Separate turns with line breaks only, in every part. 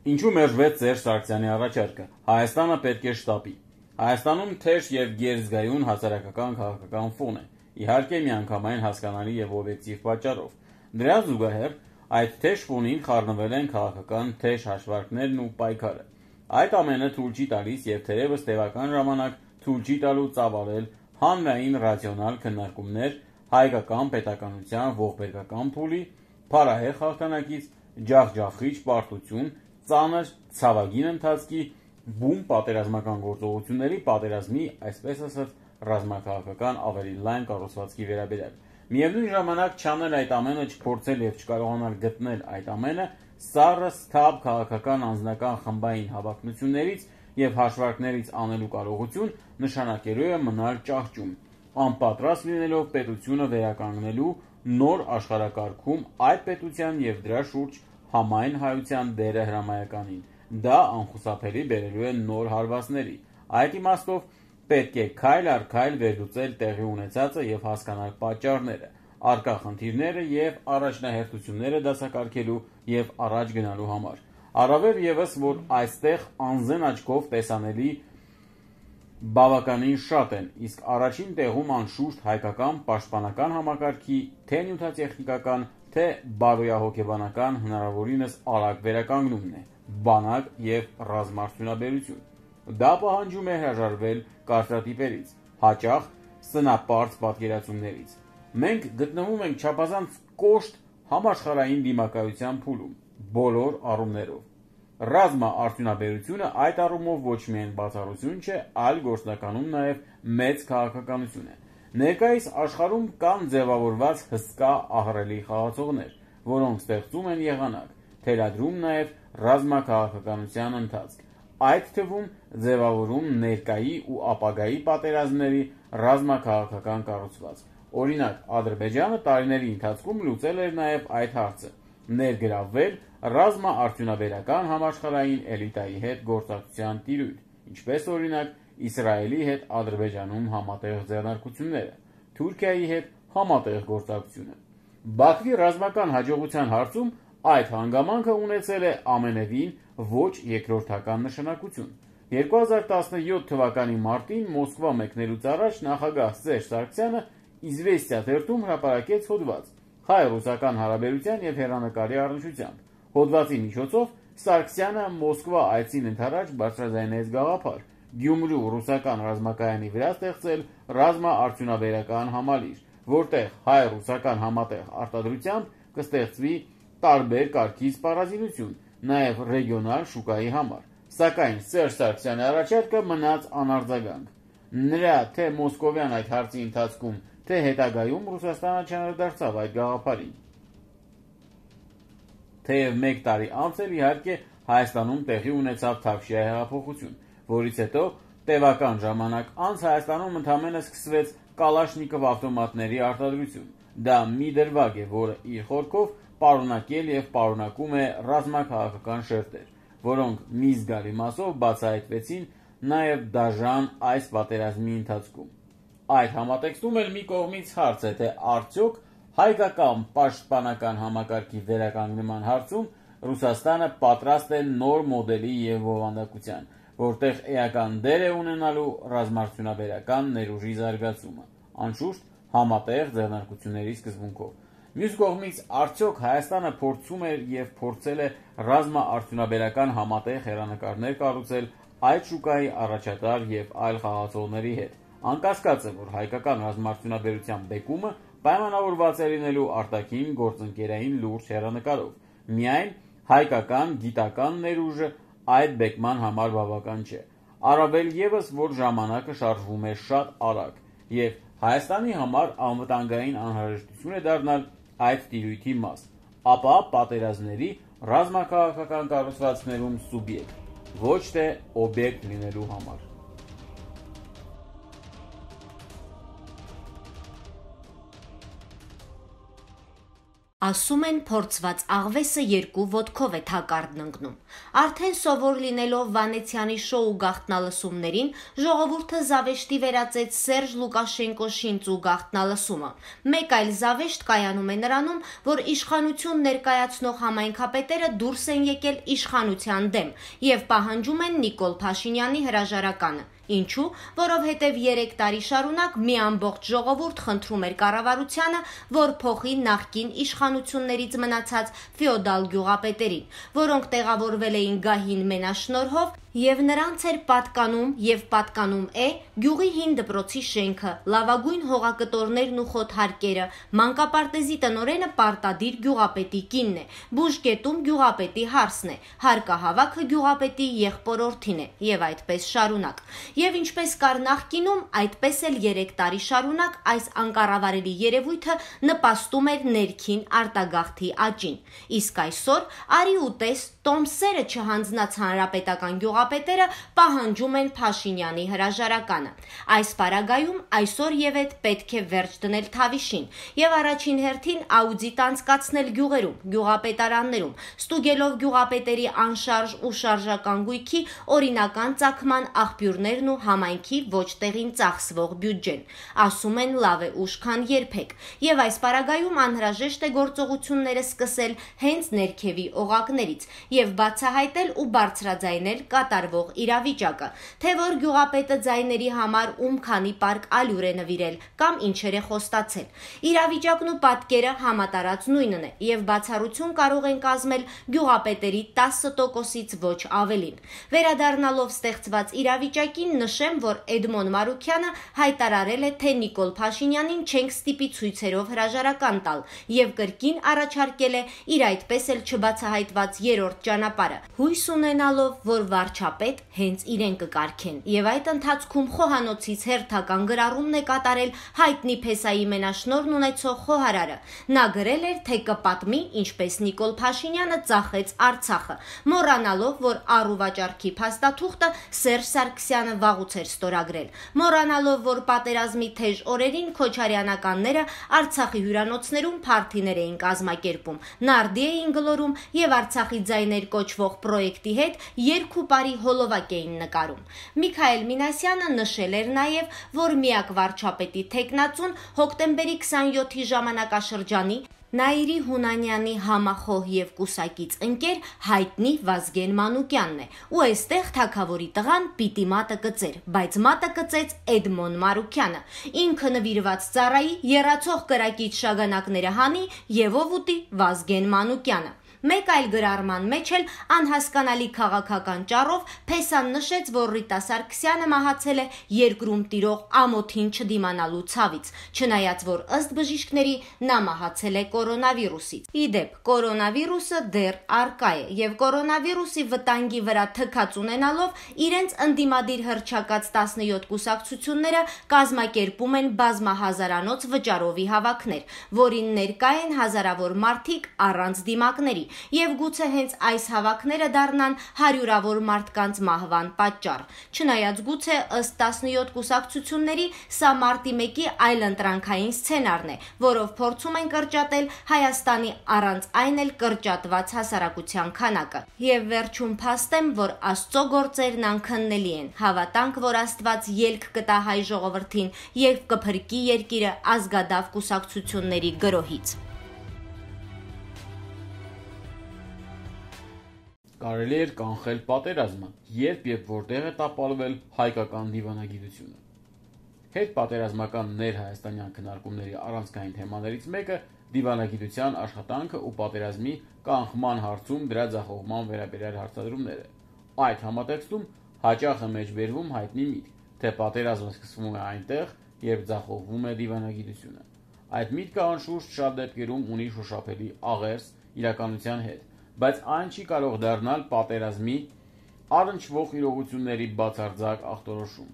Ինչու մերժվեց Սերժ Սարգսյանի առաջարկը։ Հայաստանը պետք է շտապի։ Հայաստանում թեժ եւ գերզգայուն հասարակական քաղաքական ֆոն է, իհարկե միանգամայն հասկանալի եւ օբյեկտիվ պատճառով։ Դրան զուգահեռ այդ թեժ ֆոնին խառնվել են քաղաքական թեժ հաշվարկներն ու պայքարը։ Այդ ամենը թույլ չի տալիս եւ թերևս տևական ժամանակ թույլ չի տալու ծավալել հանրային ռացիոնալ քննարկումներ հայկական պետականության ողբերգական փուլի, փարահեղ հաղթանակից, ջախջախիչ պարտություն, ծանր ցավագին ընթացքի, բում պատերազմական գործողությունների պատերազմի, այսպես ասած, ռազմաքաղաքական ավելի լայն կառուցվածքի վերաբերյալ։ Միևնույն ժամանակ չանել այդ ամենը, չփորձել եւ չկարողանալ գտնել այդ ամենը սառը սթափ քաղաքական անձնական խմբային հավակնություններից եւ հաշվարկներից անելու կարողություն նշանակելու է մնալ ճահճում, անպատրաստ լինելով պետությունը վերականգնելու նոր աշխարհակարգում այդ պետության եւ դրա շուրջ համայն հայության դերը հրամայականին։ Դա անխուսափելի բերելու է նոր հարվածների։ Այդ իմաստով պետք է քայլ առ քայլ վերլուծել տեղի ունեցածը եւ հասկանալ պատճառները, առկա խնդիրները եւ առաջնահերթությունները դասակարգելու եւ առաջ գնալու համար։ Առավել եւս, որ այստեղ անզեն աչքով տեսանելի բավականին շատ են, իսկ առաջին տեղում անշուշտ հայկական պաշտպանական համակարգի թե նյութատեխնիկական, թե բարոյահոգեբանական հնարավորինս արագ վերականգնումն է, բանակ եւ ռազմաարդյունաբերություն։ Դա պահանջում է հրաժարվել կարծրատիպերից, հաճախ սնապարծ պատկերացումներից։ Մենք գտնվում ենք չափազանց կոշտ համաշխարհային դիմակայության փուլում, բոլոր առումներով։ Ռազմաարդյունաբերությունը այդ առումով ոչ միայն բացառություն չէ, այլ գործնականում նաև մեծ քաղաքականություն է։ Ներկայիս աշխարհում կան ձևավորված հսկա ահռելի խաղացողներ, որոնք ստեղծում են եղանակ, թելադրում նաև ռազմաքաղաքականության ընթացք, այդ թվում ձևավորում ներկայի ու ապագայի պատերազմների ռազմաքաղաքական կառուցվածք։ Օրինակ, Ադրբեջանը տարիների ընթացքում լուծել էր նաև այդ հարցը, ներգրավվել ռազմաարդյունաբերական համաշխարհային էլիտայի հետ գործակցության տիրույթ, ինչպես օրինակ Իսրայելի հետ Ադրբեջանում համատեղ ձեռնարկությունները, Թուրքիայի հետ համատեղ գործակցությունը։ Բաքվի ռազմական հաջողության հարցում այդ հանգամանքը ունեցել է ամենևին ոչ երկրորդական նշանակություն։ 2017 թվականի մարտին Մոսկվա մեկնելուց առաջ նախագահ Սերժ Սարգսյանը «Իզվեստիա» թերթում հրապարակեց հոդված հայ-ռուսական հարաբերության եւ հեռանկարի առնչությամբ։ Հոդվածի միջոցով Սարգսյանը Մոսկվա այցին ընդառաջ բարձրաձայնեց գաղափար Գյումրու ռուսական ռազմակայանի վրա ստեղծել ռազմաարդյունաբերական համալիր, որտեղ հայ-ռուսական համատեղ արտադրությամբ կստեղծվի տարբեր կարգի սպառազինություն, նաև ռեգիոնալ շուկայի համար։ Սակայն Սերժ Սարգսյանի առաջարկը մնաց անարձագանք։ Նրա թե մոսկովյան այդ հարցի ընթացքում, թե հետագայում Ռուսաստանը չանդրադարձավ այդ գաղափարին։ Թեև 1 տարի անց էլ իհարկե Հայաստանում տեղի ունեցավ Թավշյա հեղափոխություն, որից հետո տևական ժամանակ անց Հայաստանում ընդամենը սկսվեց Կալաշնիկով ավտոմատների արտադրություն։ Դա մի դրվագ է, որը իր խորքով պարունակել եւ պարունակում է ռազմաքաղաքական շերտեր, որոնք մի զգալի մասով բացահայտվեցին նաև դաժան այս պատերազմի ընթացքում։ Այդ համատեքստում էլ մի կողմից հարց է, թե արդյոք հայկական պաշտպանական համակարգի վերականգնման հարցում Ռուսաստանը պատրաստ է նոր մոդելի եւ բովանդակության, որտեղ էական դեր է ունենալու ռազմաարդյունաբերական ներուժի զարգացումը, անշուշտ համատեղ ձեռնարկությունների սկզբունքով։ Մյուս կողմից, արդյոք Հայաստանը փորձում էր եւ փորձել է ռազմաարդյունաբերական համատեղ հեռանկարներ կառուցել այդ շուկայի առաջատար եւ այլ խաղացողների հետ։ Անկասկած է, որ հայկական ռազմաարդյունաբերության բեկումը պայմանավորված է լինելու արտաքին գործընկերային լուրջ հեռանկարով։ Միայն հայկական գիտական ներուժը այդ բեկման համար բավական չէ։ Առավել եւս, որ ժամանակը շարժվում է շատ արագ եւ Հայաստանի համար անվտանգային անհրաժեշտություն է դառնալ այդ տիրույթի մաս, ապա պատերազմների ռազմաքաղաքական կառուցվածքներում սուբյեկտ, ոչ թե օբյեկտ լինելու համար։
Ասում են փորձված աղվեսը երկու ոտքով է թակարդն ընկնում։ Արդեն սովոր լինելով Վանեցյանի շոու գաղտնալսումներին, ժողովուրդը զավեշտի վերածեց Սերժ Լուկաշենկո շինծու գաղտնալսումը։ Մեկ այլ զավեշտ կայանում է նրանում, որ իշխանություն ներկայացնող համայնքապետերը դուրս են եկել իշխանության դեմ եւ պահանջում են Նիկոլ Փաշինյանի հրաժարականը։ Ինչու՞, որովհետև 3 տարի շարունակ մի ամբողջ ժողովուրդ խնդրում էր կառավարությանը, որ փոխի նախկին իշխանություններից մնացած ֆեոդալ գյուղապետերին, որոնք տեղավորվել էին գահին մենաշնորհով եւ նրանց էր պատկանում եւ պատկանում է գյուղի հին դպրոցի շենքը, լավագույն հողակտորներն ու խոթհարկերը, մանկապարտեզի տնօրենը պարտադիր գյուղապետի կինն է, բուժկետում գյուղապետի հարսն է, հարկահավաքը գյուղապետի եղբորորդին է եւ այդպես շարունակ։ Եվ ինչպես կար նախկինում, այդպես էլ 3 տարի շարունակ այս անկառավարելի երևույթը նպաստում էր ներքին արտագաղթի աճին։ Իսկ այսօր արի ու տես Տոմսերը չհանձնած հանրապետական գյուղապետերը պահանջում են Փաշինյանի հրաժարականը։ Այս պարագայում այսօր եւ այդ պետք է վերջ դնել Թավիշին եւ առաջին հերթին աուդիտ անցկացնել գյուղերում, գյուղապետարաններում, ստուգելով գյուղապետերի անշարժ ու շարժական գույքի օրինական ծագման աղբյուրներն ու համայնքի ոչ տեղին ծախսվող բյուջեն։ Ասում են լավ է ուշ քան երբեք։ Եվ այս պարագայում անհրաժեշտ է գործողությունները սկսել հենց ներքևի օղակներից եւ բացահայտել ու բարձրաձայնել կատարվող իրավիճակը, թե որ գյուղապետը ձայների համար ում քանի պարկ ալյուր է նվիրել կամ ինչեր է խոստացել։ Իրավիճակն ու պատկերը համատարած նույնն է եւ բացառություն կարող են կազմել գյուղապետերի 10%-ից ոչ ավելին։ Վերադառնալով ստեղծված իրավիճակին նշեմ, որ Էդմոն Մարուքյանը հայտարարել է, թե Նիկոլ Փաշինյանին չենք ստիպի ցույցերով հրաժարական տալ եւ կրկին առաջարկել է իր այդպես էլ չբացահայտված երրորդ ճանապարհը, հույս ունենալով, որ վարչապետ հենց իրեն կկարգեն եւ այդ ընթացքում խոհանոցից հերթական գրառումն է կատարել հայտնի փեսայի մենաշնորհն ունեցող խոհարարը։ Նա գրել էր, թե կպատմի, ինչպես Նիկոլ Փաշինյանը ծախեց Արցախը, մոռանալով, որ առուվաճառքի փաստաթուղթը Սերժ Սարգսյանը վաղուց էր ստորագրել, մոռանալով, որ պատերազմի թեժ օրերին քոչարյանականները Արցախի հյուրանոցներում փարթիներ էին կազմակերպում, նարդի էին գլորում եւ Արցախի ձայներ կոչվող պրոյեկտի հետ երկու բարի հոլովակ էին նկարում։ Միքայել Մինասյանը նշել էր նաեւ, որ միակ վարչապետի թեկնածուն հոկտեմբերի 27-ի ժամանակաշրջանի Նաիրի Հունանյանի համախոհ եւ կուսակից ընկեր հայտնի Վազգեն Մանուկյանն է, ու այստեղ թագավորի տղան պիտի մատը կծեր, բայց մատը կծեց Էդմոն Մարուքյանը, ինքը նվիրված ծառայի եռացող կրակից շագանակները հանի եւ ով ուտի Վազգեն Մանուկյանը։ Մեկ այլ գրառման մեջ էլ անհասկանալի քաղաքական ճառով Փեսան նշեց, որ Ռիտա Սարգսյանը մահացել է երկրում տիրող ամոթին չդիմանալու ցավից, չնայած որ ըստ բժիշկների նա մահացել է կորոնավիրուսից։ Իդեպ, կորոնավիրուսը դեռ առկա է եւ կորոնավիրուսի վտանգի վրա թքած ունենալով իրենց ընդդիմադիր հռչակած 17 կուսակցությունները կազմակերպում են բազմահազարանոց վճարովի հավաքներ, որին ներկա են հազարավոր մարդիկ առանց դիմակների։ Եվ գուցե հենց այս հավաքները դառնան հարյուրավոր մարդկանց մահվան պատճառ։ Չնայած գուցե ըստ 17 կուսակցությունների սա մարտի 1-ի այլընտրանքային սցենարն է, որով փորձում են կրճատել Հայաստանի առանց այն էլ կրճատված հասարակության քանակը։ Եվ վերջում փաստեմ, որ Աստծո գործերն անքննելի են։ Հավատանք, որ Աստված ելք կտա հայ ժողովրդին եւ կփրկի երկիրը ազգադավ կուսակցությունների գրոհից։
Կարելի էր կանխել պատերազմը, երբ եւ որտեղ է տապալվել հայկական դիվանագիտությունը։ Հետպատերազմական ներհայաստանյան քննարկումների առանցքային թեմաներից մեկը դիվանագիտության աշխատանքը ու պատերազմի կանխման հարցում դրա ձախողման վերաբերյալ հարցադրումներ է։ Այդ համատեքստում հաճախ է մեջբերվում հայտնի միտք, թե պատերազմը սկսվում է այնտեղ, երբ ձախողվում է դիվանագիտությունը։ Այդ միտքը անշուշտ շատ դեպքերում ունի շոշափելի աղերս իրականության հետ, բայց այն չի կարող դառնալ պատերազմի առնչվող իրողությունների բացարձակ ախտորոշում։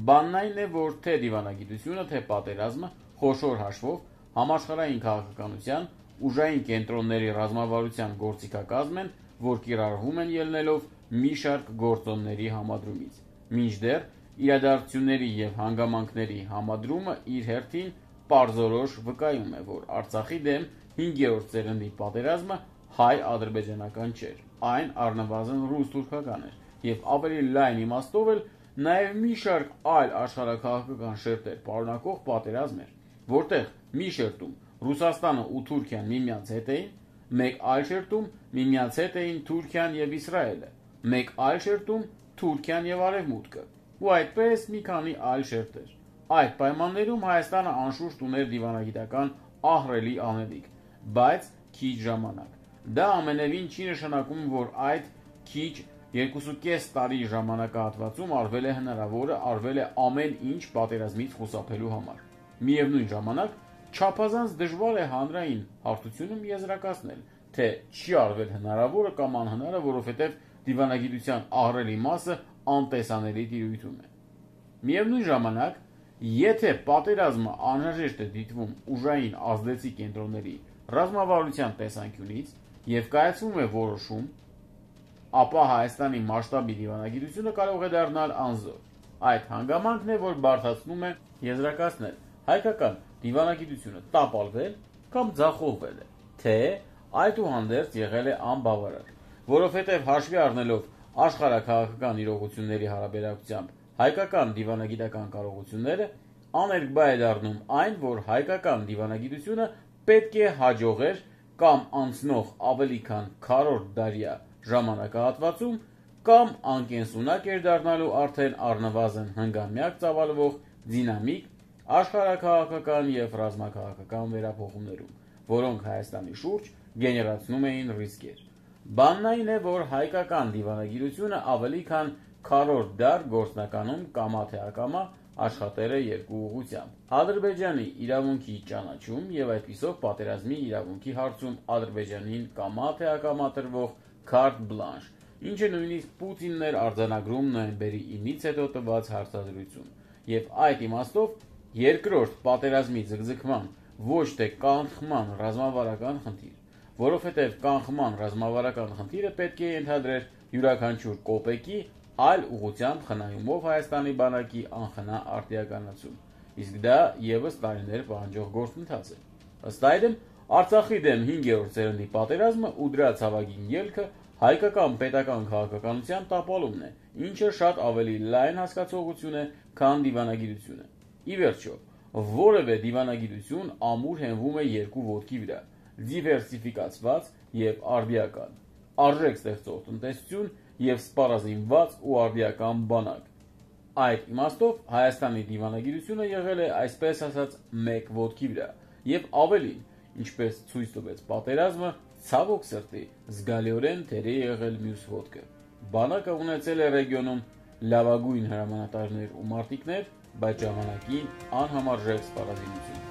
Բանն այն է, որ թե դիվանագիտությունը, թե պատերազմը խոշոր հաշվով համաշխարհային քաղաքականության ուժային կենտրոնների ռազմավարության գործիքակազմ են, որ կիրառվում են ելնելով մի շարք գործոնների համադրումից։ Մինչդեռ իրադարձությունների եւ հանգամանքների համադրումը իր հերթին պարզորոշ վկայում է, որ Արցախի դեմ 5-րդ սերնդի պատերազմը հայ-ադրբեջանական չէր, այն առնվազն ռուս-թուրքական էր, եւ ավելի լայն իմաստով էլ նաեւ մի շարք այլ աշխարհաքաղաքական շերտեր պարունակող պատերազմ էր, որտեղ մի շերտում Ռուսաստանը ու Թուրքիան միմյանց հետ էին, մեկ այլ շերտում միմյանց հետ էին Թուրքիան եւ Իսրայելը, մեկ այլ շերտում Թուրքիան եւ Արևմուտքը, ու այդպես մի քանի այլ շերտեր։ Այդ պայմաններում Հայաստանը անշուշտ ուներ դիվանագիտական ահռելի անելիք, բայց քիչ ժամանակ։ Դա ամենևին չի նշանակում, որ այդ քիչ 2.5 տարի ժամանակահատվածում արվել է հնարավորը, արվել է ամեն ինչ պատերազմից խուսափելու համար։ Միևնույն ժամանակ չափազանց դժվար է հանրային հարթությունում եզրակացնել, թե չի արվել հնարավորը կամ անհնարը, որովհետև դիվանագիտության ահռելի մասը անտեսանելի տիրույթում է։ Միևնույն ժամանակ, եթե պատերազմը անհրաժեշտ է դիտվում ուժային ազդեցիկ կենտրոնների ռազմավարության տեսանկյունից եւ կայացվում է որոշում, ապա Հայաստանի մասշտաբի դիվանագիտությունը կարող է դառնալ անզոր։ Այդ հանգամանքն է, որ բարդացնում է եզրակացնել հայկական դիվանագիտությունը տապալվել կամ ձախողվել է, թե այդուհանդերձ եղել է անբավարար, որովհետև հաշվի առնելով աշխարհաքաղաքական իրողությունների հարաբերակցությամբ հայկական դիվանագիտական կարողությունները, աներկբա է դառնում այն, որ հայկական դիվանագիտությունը պետք է հաջողեր կամ անցնող ավելի քան քառորդ դարյա ժամանակահատվածում կամ անկենսունակ էր դառնալու արդեն առնվազն հնգամյակ ծավալվող դինամիկ աշխարհաքաղաքական եւ ռազմաքաղաքական վերափոխումներում, որոնք Հայաստանի շուրջ գեներացնում էին ռիսկեր։ Բանն այն է, որ հայկական դիվանագիտությունը ավելի քան քառորդ դար գործնականում կամա թե ակամա աշխատել է երկու ուղղությամբ։ Ադրբեջանի իրավունքի ճանաչում եւ այդպիսով պատերազմի իրավունքի հարցում Ադրբեջանին կամա թե ակամա տրվող քարտ բլանշ, ինչը նույնիսկ Պուտինն էր արձանագրում նոյեմբերի 9-ից հետո տված հարցազրույցում, եւ այդ իմաստով երկրորդ պատերազմի ձգձգման ոչ թե կանխման ռազմավարական խնդիր, որովհետև կանխման ռազմավարական խնդիրը պետք է ենթադրեր յուրաքանչյուր կոպեկի այլ ուղղությամբ խնայումով Հայաստանի բանակի անխնա արտիականացում, իսկ դա եւս տարիներ պահանջող գործընթաց է։ Ըստ այդմ, Արցախի դեմ 5-րդ սերնդի պատերազմը ու դրա ցավագին ելքը հայկական պետական քաղաքականության տապալումն է, ինչը շատ ավելի լայն հասկացողություն է, քան դիվանագիտությունը։ Ի վերջո, որևէ դիվանագիտություն ամուր հենվում է երկու ոտքի վրա՝ դիվերսիֆիկացված եւ արդիական, արժեք ստեղծող տնտեսություն եւ սպառազինված ու արդիական բանակ։ Այդ իմաստով Հայաստանի դիվանագիտությունը եղել է այսպես ասած մեկ ոտքի վրա եւ ավելին, ինչպես ցույց տվեց պատերազմը, ցավոք սրտի զգալիորեն թեր է եղել մյուս ոտքը։ Բանակը ունեցել է ռեգիոնում լավագույն հրամանատարներ ու մարտիկներ, բայց ժամանակին անհամարժեք սպառազինություն։